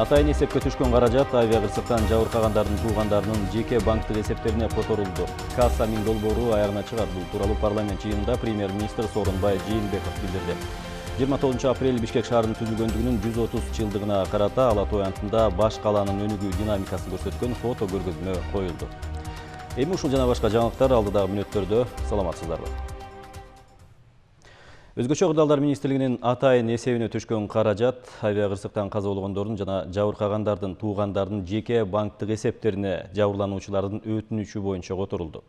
Атайын эсепке түшкөн каражат авиакырсыктан жабыркагандардын туугандарынын жеке банктык эсептерине которулду. Касса миң долбоору аягына чыгат. Бул тууралуу парламент жыйынында премьер-министр Сооронбай Жээнбеков билдирди. 29 апрель Бишкек шаарынын түзүлгөндүгүнүн 130 жылдыгына карата Ала Тоо аянтында баш калаанын өнүгүү динамикасын көрсөткөн фото көргөзмө коюлду. Эми ушул жана башка жаңылыктар алдыдагы мүнөттөрдө. Саламатсыздарбы. Өзгөчө Кырдаалдар министрлигинин атайын эсебине түшкөн каражат авиакырсыктан каза болгондордун жана жабыркагандардын туугандарынын жеке банктык эсептерине жабырлануучулардын өтүнүчү боюнча которулду.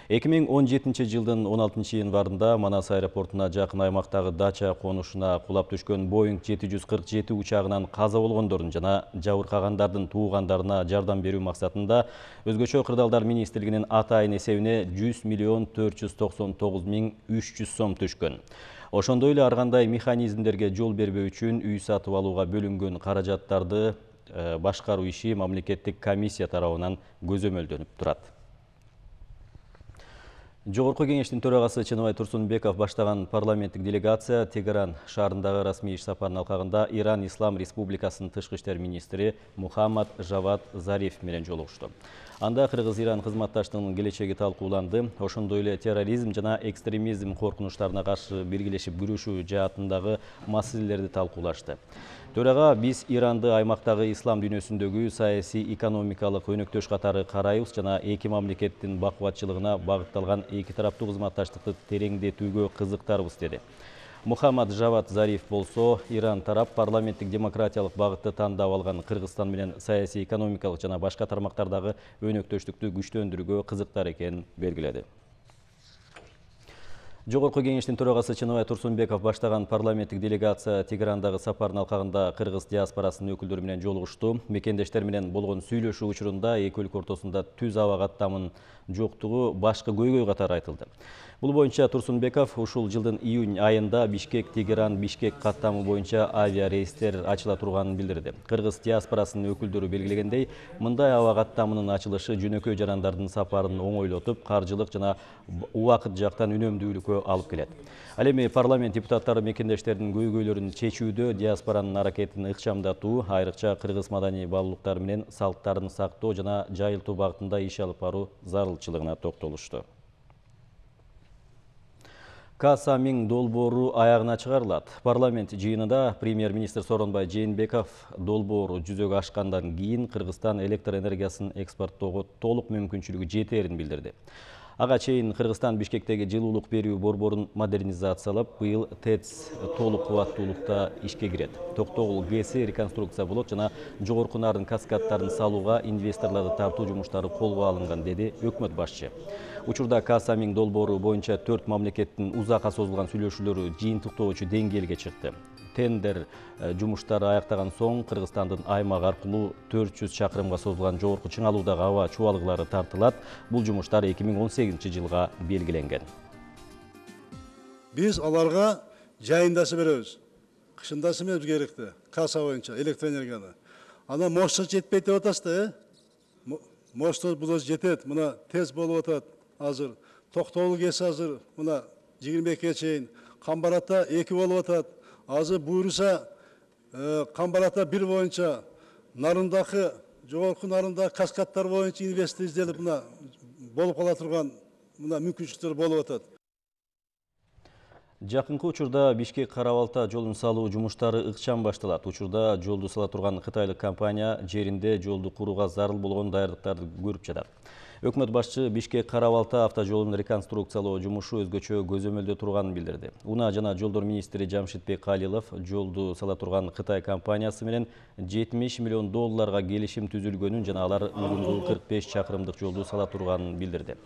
2017 жылдын 16 январында Манас аэропортуна жакын аймактагы дача конушуна кулап түшкөн Boeing 747 учагынан каза болгондордун жана жабыркагандардын туугандарына жардам берүү максатында Өзгөчө Кырдаалдар министрлигинин атайын эсебине 100 миллион 499 миң 300 сом түшкөн. Ошондой эле ар кандай механизмдерге жол бербөө үчүн үй сатып алууга бөлүнгөн каражаттарды башкаруу иши мамлекеттик комиссия тарабынан көзөмөлдөнүп турат. Жогорку кеңештин төрагасы Чыныбай Турсунбеков баштаган парламенттик делегация Тегеран шаарындагы расмий иш сапарынын алкагында Иран Ислам Республикасынын тышкы иштер министри Мухаммад Жавад Зариф менен жолугушту. Анда Кыргыз-Иран кызматташтыгынын келечеги талкууланды. Ошондой эле терроризм жана экстремизм коркунучтарына каршы биргелешип күрөшүү жаатындагы маселелерди талкуулашты. Төрага биз Иранды аймактагы ислам дүйнөсүндөгү саясий экономикалык өнөктөш катары карайбыз жана эки мамлекеттин бакубатчылыгына багытталган эки тараптуу кызматташтыкты тереңдетүүгө кызыктарбыз деди. Мухаммад Жавад Зариф болсо, Иран тарап парламенттик демократиялык багытты тандап алган Кыргызстан менен саясий экономикалык жана башка тармактардагы өнөктөштүктү күчтөндүрүүгө кызыктар экенин белгиледи. Жогорку кеңештин төрагасы Чыныбай Турсунбеков баштаган парламенттик делегация Тегерандагы сапарынын алкагында кыргыз диаспорасынын өкүлдөрү менен жолугушту. Мекендештер менен болгон сүйлөшүү учурунда эки өлкө ортосунда түз аба каттамынын жоктугу башкы көйгөй катары айтылды. Бул боюнча Турсунбеков ушул жылдын июнь айында Бишкек-Тегеран-Бишкек каттамы боюнча авиа рейстер ачыла турганын билдирди. Кыргыз диаспорасынын өкүлдөрү белгилегендей, мындай аба каттамынын ачылышы жөнөкөй жарандардын сапарын оңойлотуп, каржылык жана убакыт жактан үнөмдүүлүккө алып келет. Ал эми парламент депутаттары мекендештердин көйгөйлөрүн чечүүдө диаспоранын аракетин ыкчамдатуу, айрыкча кыргыз маданий баалуулуктары менен салттарын сактоо жана жайылтуу багытында иш алып баруу зарылчылыгына токтолушту. Касса миң долбоору аягына чыгарылат. Парламент жыйынында премьер-министр Сооронбай Жээнбеков долбоору жүзөгө ашкандан кийин Кыргызстан электр энергиясын экспорттоого толук мүмкүнчүлүгү жетерин билдирди. Ага чейин Кыргызстан Бишкектеги жылуулук берүү борборун модернизациялап, быйыл ТЭЦ толук кубаттуулукта ишке кирет. Токтогул ГЭСи реконструкция болот жана жогорку нарын каскаддарын салууга инвесторлорду тартуу жумуштары колго алынган, деди өкмөт башчы. Учурда Касса миң долбоору боюнча 4 мамлекеттин узакка созулган сүйлөшүүлөрү жыйынтыктоочу деңгээлге чыкты. Тендер жумуштары аяктаган соң Кыргызстандын аймак аркылуу 400 чакырымга созулган жогорку чыңалуудагы аба чубалгылары тартылат. Бул жумуштар 2018 жылга белгиленген. Биз аларга жайындасы беребиз. Кышындасы эмес керекти. Касса боюнча электроэнергияны. Ана мощность жетпейт деп атасызды, мощность бул жетет. Мына ТЭЦ болуп атат азыр. Токтогул ГЭС азыр мына 22-ге чейин. Камбарата 2 болуп атат. Азыр буйруса Камбарата 1 боюнча нарындагы жогорку нарындагы каскадтар боюнча инвестор изделип мына болуп кала турган мына мүмкүнчүлүктөр болуп атат. Жакынкы учурда Бишкек Кара-Балта жолун салуу жумуштары ыкчам башталат. Учурда жолду сала турган кытайлык компания жеринде жолду курууга зарыл болгон даярдыктарды көрүп жатат. Өкмөт башчы Бишкек Кара-Балта автожолун реконструкциялоо жумушу өзгөчө көзөмөлдө турганын билдирди. Унаа жана жолдор министри Жамшитбек Калилов жолду сала турган Кытай компаниясы менен 70 миллион долларга келишим түзүлгөнүн жана алар узундугу 45 чакырымдык жолду сала турганын билдирди.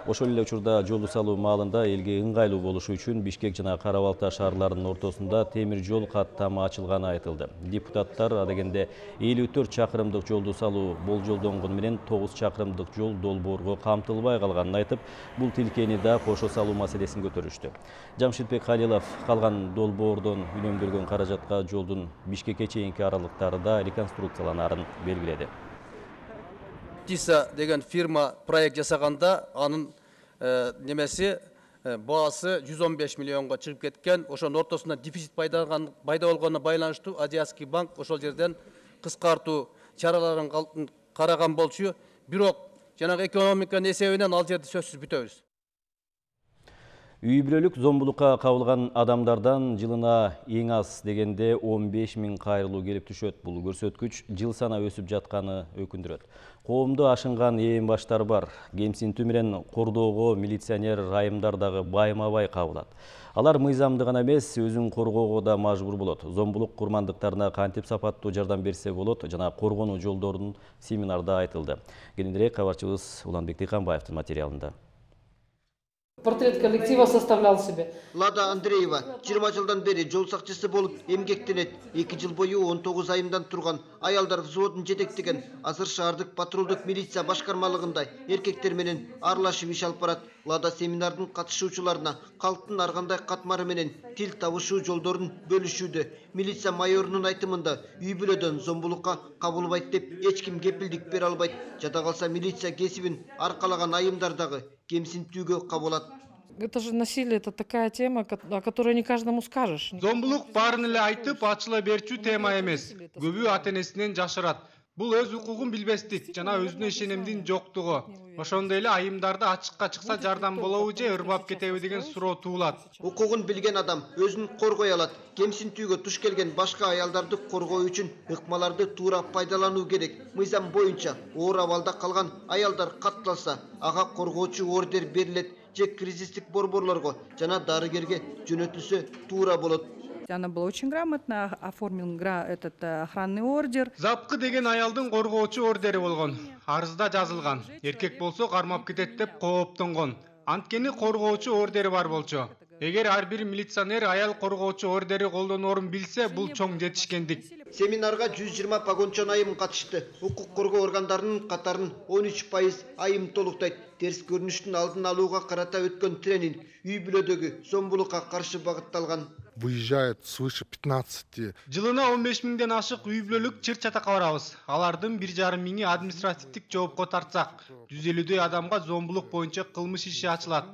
Ошол эле учурда жолду салуу маалында элге ыңгайлуу болушу үчүн Бишкек жана Кара-Балта шаарларынын ортосунда темир жол каттамы ачылганы айтылды. Депутаттар адегенде 54 чакырымдык жолду салуу болжолдонгону менен 9 чакырымдык жол долбоорго камтылбай калганын айтып, бул тилкени да кошо салуу маселесин көтөрүштү. Жамшитбек Калилов калган долбоордон үнөмдөлгөн каражатка жолдун Бишкекке чейинки аралыктары да реконструкцияланарын белгиледи. Тиса деген фирма проект жасаганда анын немеси баасы 115 миллионго чыгып кеткен. Ошонун ортосунда дефицит пайда болгонуна байланыштуу Азиатский банк ошол жерден кыскартуу чараларын караган болчу. Бирок жанагы экономиканын эсебинен ал жерди сөзсүз бүтөбүз. Үй бүлөлүк зомбулукка кабылган адамдардан жылына эң аз дегенде 15 000 кайрылуу келип түшөт. Бул көрсөткүч жыл сана өсүп жатканы өкүндүрөт. Коомду ашынган ээн баштар бар. Кемсинтүү менен кордоого милиционер айымдар дагы байма-бай кабылат. Алар мыйзамды гана эмес, өзүн коргоого да мажбур болот. Зомбулук курмандыктарына кантип сапаттуу жардам берсе болот жана коргонуу жолдорун семинарда айтылды. Кененирээк кабарчыбыз Уланбек Тыйканбаевдин материалында. Портрет коллектива составлял себе. Лада Андреева 20 жылдан бери жол сакчысы болуп эмгектенет. 2 жыл бою 19 айымдан турган аялдар взводун жетектеген азыр шаардык патрулдук милиция башкармалыгында эркектер менен аралашып иш алып барат. Лада семинардын катышуучуларына калктын ар кандай катмары менен тил табышуу жолдорун бөлүшүүдө. Милиция майорунун айтымында үй бүлөдөн зомбулукка кабылбайт деп эч ким кепилдик бере албайт. Жада калса милиция кесибин аркалаган айымдар дагы кемсинтүүгө кабылат. Это же насилие, это такая тема, о которой не каждому скажешь. Зомбулук баарын эле айтып ачыла берчү тема эмес. Көбү ата-энесинен жашырат. Бул өз укугун билбестик жана өзүнө ишенимдин жоктугу. Ошондой эле айымдарды ачыкка чыкса жардам болобу же ырбап кетеби деген суроо туулат. Укугун билген адам өзүн коргой алат. Кемсинтүүгө туш келген башка аялдарды коргоо үчүн ыкмаларды туура пайдалануу керек. Мыйзам боюнча оор абалда калган аялдар катталса, ага коргоочу ордер берилет же кризистик борборлорго жана дарыгерге жөнөтүлсө туура болот. Она была очень грамотно, оформил этот охранный ордер. Запкы деген аялдын коргоочу ордери болгон. Арызда жазылган. Эркек болсо кармап кетет деп кооптонгон. Анткени коргоочу ордери бар болчу. Эгер ар бир милиционер аял коргоочу ордери колдоноорун билсе, бул чоң жетишкендик. Семинарга 120 погончон айым катышты. Укук коргоо органдарынын катарын 13% айым толуктайт. Терс көрүнүштүн алдын алууга карата өткөн тренинг үй бүлөдөгү зомбулукка каршы багытталган. Выезжает свыше 15. Жылына 15 000ден ашык үй бүлөлүк чыр-чатакка барабыз. Алардын 1,5 миңи административдик жоопко тартсак, 150дөй адамга зомбулук боюнча кылмыш иши ачылат.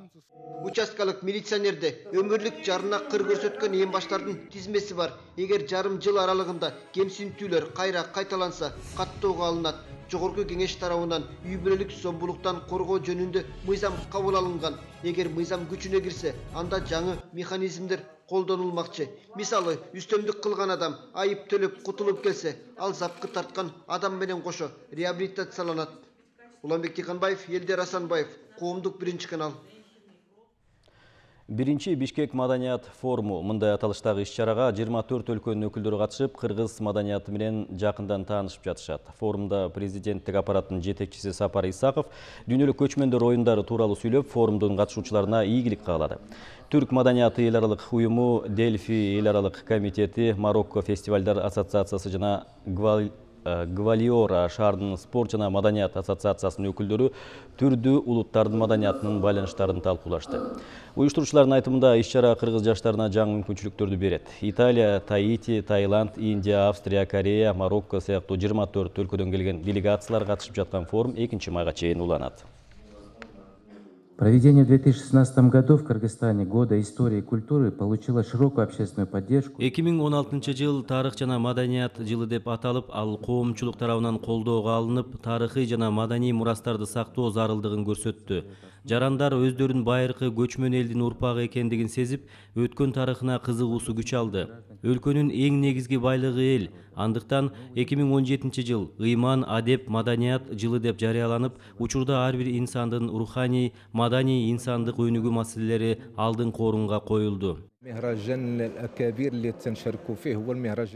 Участкалык милиционерде өмүрлүк жарына кыр көрсөткөн эң баштардын тизмеси бар. Эгер жарым жыл аралыгында кемсинтүүлөр кайра кайталанса, каттоого алынат. Жогорку кеңеш тарабынан үй бүлөлүк зомбулуктан коргоо жөнүндө мыйзам кабыл алынган. Эгер мыйзам күчүнө кирсе, анда жаңы механизмдер колдонулмакчы. Мисалы, үстөмдүк кылган адам айып төлөп кутулуп келсе, ал запкы тарткан адам менен кошо реабилитацияланат. Уланбек Тыйканбаев, Элдер Асанбаев, Коомдук 1 канал. Биринчи Бишкек маданият форуму мындай аталыштагы иш-чарага 24 өлкөнүн өкүлдөрү катышып, кыргыз маданияты менен жакындан таанышып жатышат. Форумда президенттик аппараттын жетекчиси Сапар Исаков дүйнөлүк көчмөндөр оюндары тууралуу сүйлөп, форумдун катышуучуларына ийгилик каалады. Түрк маданияты эл аралык уюму, Дельфи эл аралык комитети, Марокко фестивалдар ассоциациясы жана Гвалиора шаарынын спорт жана маданият ассоциациясынын өкүлдөрү түрдүү улуттардын маданиятынын байланыштарын талкуулашты. Уюштуруучулардын айтымында иш-чара кыргыз жаштарына жаңы мүмкүнчүлүктөрдү берет. Италия, Таити, Таиланд, Индия, Австрия, Корея, Марокко сыяктуу 24 өлкөдөн келген делегациялар катышып жаткан форум 2 майга чейин уланат. Проведение в 2016 году в Кыргызстане Года истории и культуры получило широкую общественную поддержку. 2016 жыл тарых жана маданият жылы деп аталып, ал коомчулук тарабынан колдоого алынып, тарыхый жана маданий мурастарды сактоо зарылдыгын көрсөттү. Жарандар өздөрүн байыркы көчмөн элдин урпагы экендигин сезип, өткөн тарыхына кызыгуусу күч алды. Өлкөнүн эң негизги байлыгы эл. Андыктан 2017 жыл ыйман, адеп, маданият жылы деп жарыяланып, учурда ар бир инсандын руханий, маданий инсандык өнүгүү маселелери алдыңкы орунга коюлду.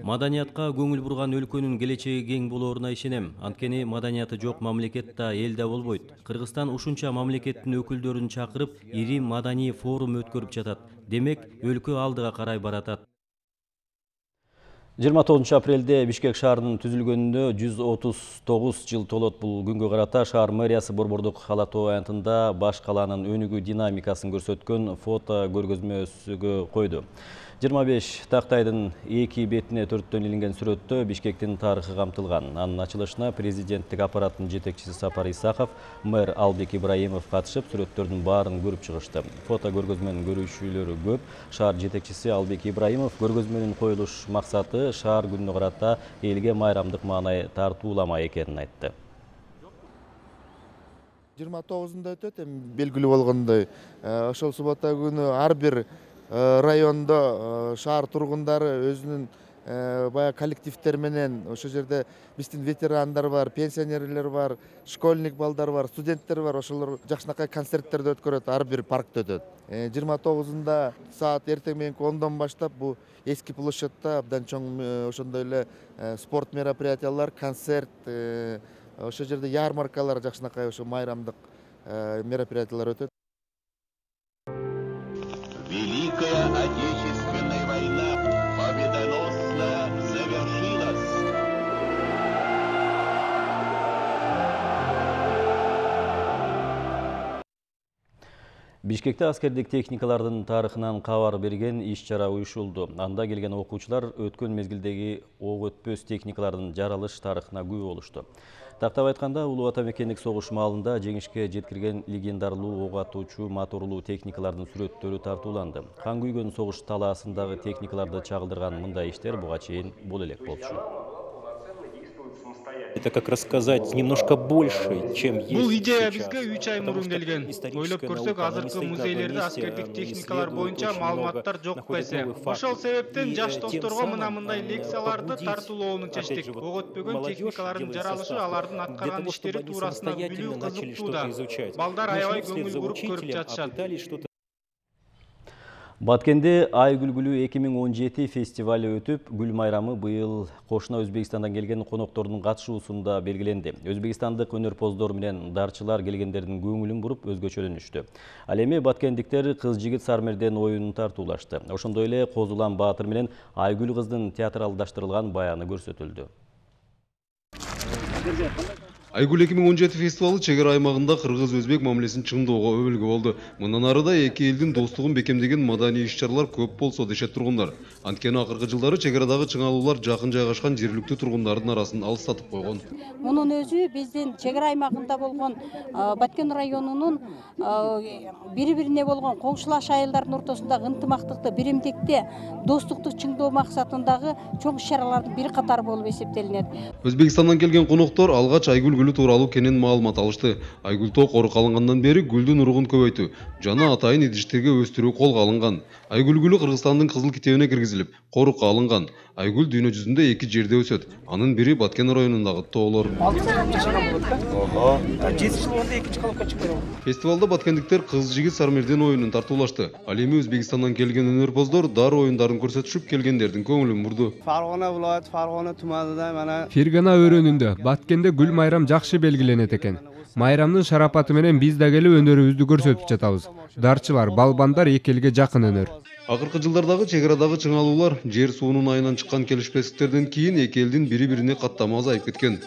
Маданиятка көңүл бурган өлкөнүн келечеги кең болооруна ишенем. Анткени маданияты жок мамлекет да эл да болбойт. Кыргызстан ушунча мамлекеттин өкүлдөрүн чакырып, ири маданий форум өткөрүп жатат. Демек, өлкө алдыга карай баратат. 29 апрелде Бишкек шаарынын түзүлгөнүнө 139 жыл толот. Бул күнгө карата шаар мэриясы Борбордук ала тоо аянтында баш калаанын өнүгүү динамикасын көрсөткөн фото көргөзмөсүгө койду. 25 тактайдын эки бетине төрттөн илинген сүрөттө Бишкектин тарыхы камтылган. Анын ачылышына президенттик аппараттын жетекчиси Сапар Исаков, мэр Албек Ибраимов катышып, сүрөттөрдүн баарын көрүп чыгышты. Фото көргөзмөнүн көрүүчүлөрү көп. Шаар жетекчиси Албек Ибраимов көргөзмөнүн коюлуш максаты шаар күнүнө карата элге майрамдык маанай тартууламай экенин айтты. 29-нда өтөт, белгилүү болгондой. Ошол суббота күнү ар бир райондо шаар тургундары өзүнүн баягы коллективдер менен ошол жерде биздин ветерандар бар, пенсионерлер бар, школьник балдар бар, студенттер бар. Ошолор жакшынакай концерттерди өткөрөт, ар бир паркта өтөт. 29-нда саат эртең мененки 10дон баштап бул эски площадьта абдан чоң ошондой эле спорт мероприятиялар, концерт, ошол жерде ярмаркалар, жакшынакай ошо майрамдык мероприятиялар өтөт. Великая Отечественная война победоносно завершилась. Бишкекте аскердик техникалардын тарыхынан кабар берген иш-чара уюшулду. Анда келген окуучулар өткөн мезгилдеги ок өтпөс техникалардын жаралыш тарыхына күбө болушту. Тактап айтканда, Улуу Ата мекендик согуш маалында жеңишке жеткирген легендарлуу ок атуучу моторлуу техникалардын сүрөттөрү тартууланды. Кан күйгөн согуш талаасындагы техникаларды чагылдырган мындай иштер буга чейин боло элек болчу. Это как рассказать немножко больше, чем есть. Бул идея сейчас. бизге 3 ай мурун келген. Ойлоп көрсөк, азыркы музейлерде аскердик техникалар боюнча маалыматтар жок эсе. Ошол себептен жаш досторго мындай лекцияларды тартуулоону чечтик. Ок өтпөгөн техникалардын жаралышы, алардын аткарган иштери туурасында билүү кызыктууда. Балдар аябай көңүл буруп көрүп жатышат. Баткенде Ай күлгүлүү 2017 фестивалы өтүп, гүл майрамы быйыл кошуна Өзбекстандан келген коноктордун катышуусунда белгиленди. Өзбекстандык өнөрпоздор менен дарчылар келгендердин көңүлүн буруп өзгөчөлөнүштү. Ал эми баткендиктер кыз-жигит Сармерден оюнун тартуулашты. Ошондой эле Козулан Баатыр менен Айгүл кыздын театралдаштырылган баяны көрсөтүлдү. Айгүл 2017 фестивалы чек ара аймагында кыргыз-өзбек мамилесин чыңдоого өбөлгө болду. Мындан ары да эки элдин достугун бекемдеген маданий иш-чаралар көп болсо дешет тургундар. Анткени акыркы жылдары чек арадагы чыңалуулар жакын жайгашкан жергиликтүү тургундардын арасын алыстатып койгон. Мунун өзү биздин чек ара аймагында болгон Баткен районунун бири-бирине болгон коңшулаш айылдардын ортосундагы ынтымактыкты, биримдикти, достукту чыңдоо максатындагы чоң иш-чаралардын бир катары болуп эсептелинет. Өзбекстандан келген коноктор алгач Айгүл гүлү тууралуу кенен маалымат алышты. Айгүл тоо корук алынгандан бери гүлдүн уругун көбөйтүү жана атайын идиштерге өстүрүү колго алынган. Айгүл гүлү Кыргызстандын кызыл китебине киргизилип, корукка алынган. Айгүл дүйнө жүзүндө 2 жерде өсөт. Анын бири Баткен районундагы тоолор. Фестивалда баткендиктер кыз-жигит Сармерден оюнун тартуулашты. Ал эми Өзбекстандан келген өнөрпоздор дар оюндарын көрсөтүшүп, келгендердин көңүлүн бурду. Farg'ona viloyati Farg'ona tumanida mana Фергана өрөөнүндө Баткенде гүл майрам жакшы белгиленет экен. Майрамдын шарапаты менен биз да келип өнөрүбүздү көрсөтүп жатабыз. Дарчылар, балбандар эки элге жакын өнөр. Акыркы жылдардагы чек арадагы чыңалуулар жер суунун айынан чыккан келишпестиктерден кийин эки элдин бири-бирине каттама азайып кеткен.